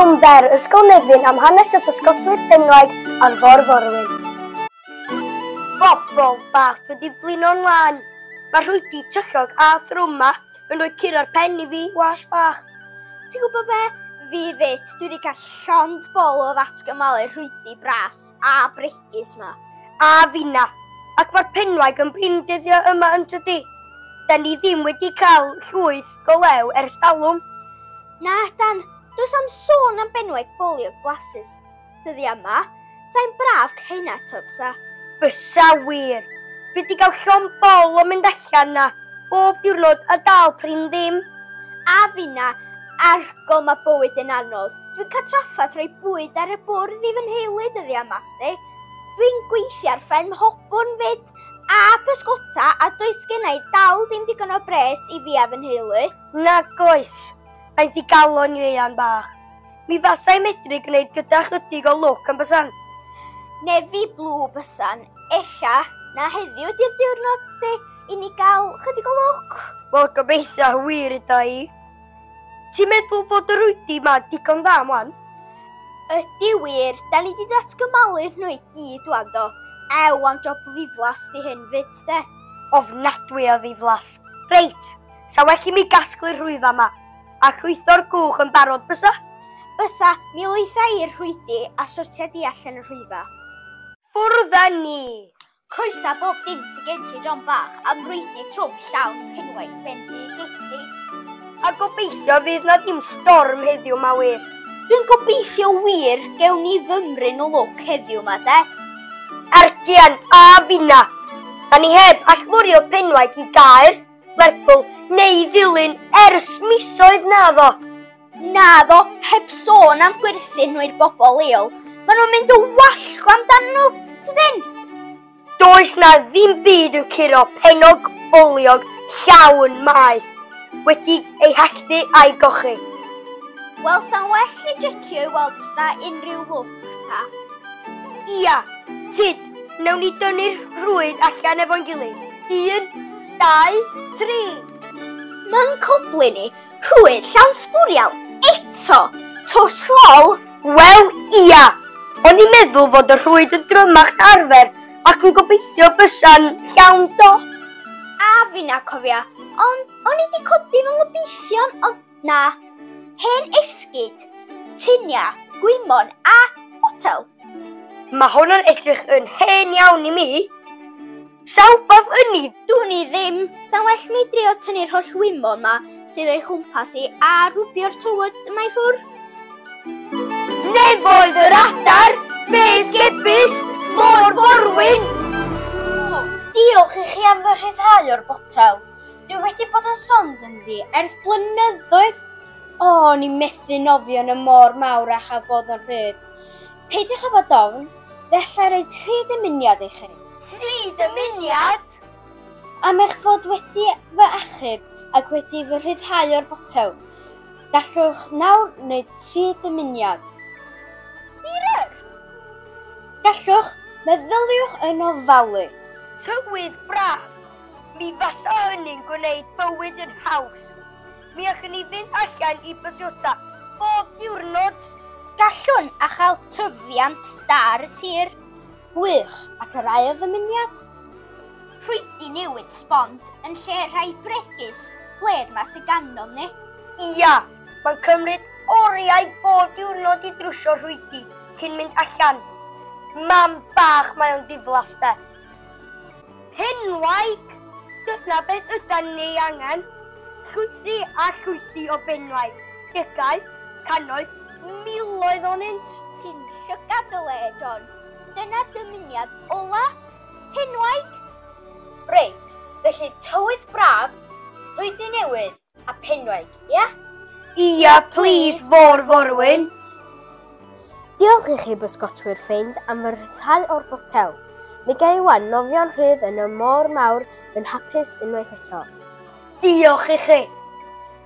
Ffilm fer Ysgol Nefyn am hanes y pysgotwyr penwaig ar Fôr Forwyn. Bobol bach, dwi 'di blino'n lân. Mae'r rhwydi tyllog a thrwm 'ma yn rhoi curo'r pen i fi, wash bach. Ti'n gwybod be? Fi 'fyd, dwi 'di cael llond bol o ddatgymalu rhwydi bras a bregus 'ma. A finna. Ac mae'r penwaig yn brin dyddiau yma yn tydi? Da ni ddim wedi cael llwyth go lew ers talwm. Na, Dan, does am sôn am benwaig boliog blasus dyddiau yma. Sa'n braf cael to, bysa? Bysa wir. Dwi wedi cael llond bol o mynd allan na bob diwrnod a dal prin ddim. A finna, argol mae bywyd yn anodd. Dwi'n cael trafferth rhoi bwyd ar y bwrdd i fy nheulu dyddiau yma, sti. Dwi'n gweithio ar fferm Hobwrn 'fyd, a pysgota, a does gennai dal dim digon o bres i fi a fy nheulu. Nag oes. Mae'n ddigalon Ieuan bach. Mi fasai medru gwneud gyda chydig o lwc yn bysan. Nefi blw bysan, ella na heddiw ydy'r diwrnod sti i ni gael chydig o lwc. Wel, gobeithio wir yda i. Ti'n meddwl fod y rwydi ma digon dda mwan? Ydy wir, da ni di datgymalu nhw i gyd wan do. Ew, am job ddiflas di hyn fyd de. Ofnadwy o ddiflas. Reit, sa well i mi gasglu'r rhwyfa ma. A llwytho'r gwch yn barod, bysa? Bysa, mi lwytha i'r rhwydi a sortia di allan y rhwyfa. Ffwrdd â ni! Croesa bob dim sydd gen ti, John bach, am rwydi trwm llawn penwaig bendigedig. A gobeithio fydd na ddim storm heddiw ma wir. Dwi'n gobeithio wir gewn ni fymryn o lwc heddiw ma de. Argian a finna! Da ni heb allforio penwaig i Gaer, Lerpwl neu Ddulyn ers misoedd naddo. Naddo, heb sôn am gwerthu nhw i'r bobl leol. Maen nhw'n mynd yn wallgo amdan nhw, tydyn? Does na ddim byd yn curo pennog boliog llawn maeth wedi ei halltu a'i gochi. Wel, sa'n well i jecio i weld os na unrhyw lwc ta. Ia, tyd, nawn ni dynnu'r rhwyd allan efo'n gilydd. 1, 2, 3. Mae'n coblu ni, rhwyd llawn sbwriel, eto, twt lol. Wel, ia, o'n i'n meddwl fod y rhwyd yn drymach na arfer ac yn gobeithio bysa'n llawn dop. A finna cofia, ond o'n i di codi fy ngobeithion, ond na. Hen esgid, tunia, gwymon a fotel. Mae hwn yn edrych yn hen iawn i mi. Sa wbath yn i? Dwn i ddim. Sa'n well mi drio tynnu'r holl wymon ma sydd o'i chwmpas i a rwbio'r tywod yma i ffwr. Nefoedd yr adar, bedd gebyst, môr forwyn! Diolch i chi am fy rhyddhau o'r botel. Dwi wedi bod yn sond ynddi ers blynyddoedd. O, o'n i'n methu nofio yn y môr mawr a chael bod yn rhydd. Peidiwch â bod ofn, fe allai roi 3 dymuniad i chi. 3 dymuniad? Am eich fod wedi fy achub ac wedi fy rhyddhau o'r botel, gallwch nawr wneud 3 dymuniad. Wir? Gallwch, meddyliwch yn ofalus. Tywydd braf, mi fasa hynny'n gwneud bywyd yn haws. Mi allwn ni fynd allan i bysgota bob diwrnod. Gallwn a chael tyfiant da ar y tir. Gwych, ac yr ail ddymuniad? Rhwydi newydd sbond yn lle rhai bregus blêr ma sydd gandom ni. Ia, mae'n cymryd oriau bob diwrnod i drwsio rhwydi cyn mynd allan. Mam bach mae o'n diflas de. Penwaig! Dyna beth ydan ni angen. Llwythi a llwythi o benwaig. Degau, cannoedd, miloedd onynt. Ti'n llygad dy le, John. Dyna dymuniad ola. Penwaig! Reit, felly tywydd braf, rhwydi newydd a penwaig, ia? Ia, please, fôr forwyn. Diolch i chi bysgotwyr ffeind am fy rhyddhau o'r botel. Mi ga i wan nofio'n rhydd yn y môr mawr yn hapus unwaith eto. Diolch i chi.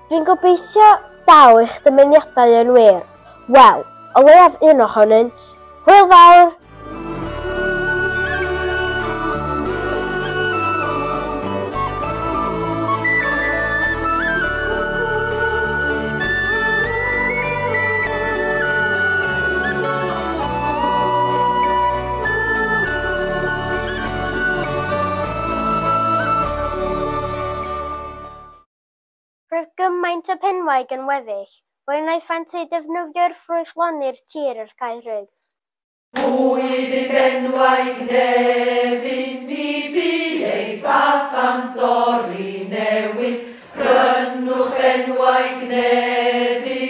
Dwi'n gobeithio daw eich dymuniadau yn wir. Wel, o leiaf un ohonynt. Hwyl fawr! benwaig yn weddill, fe wnaethant eu defnyddio'r ffrwythloni'r tir yr cae rhyg. Pwy fu benwaig Nefyn, ni bu ei bath am dorri newyn. Prynwch benwaig Nefyn.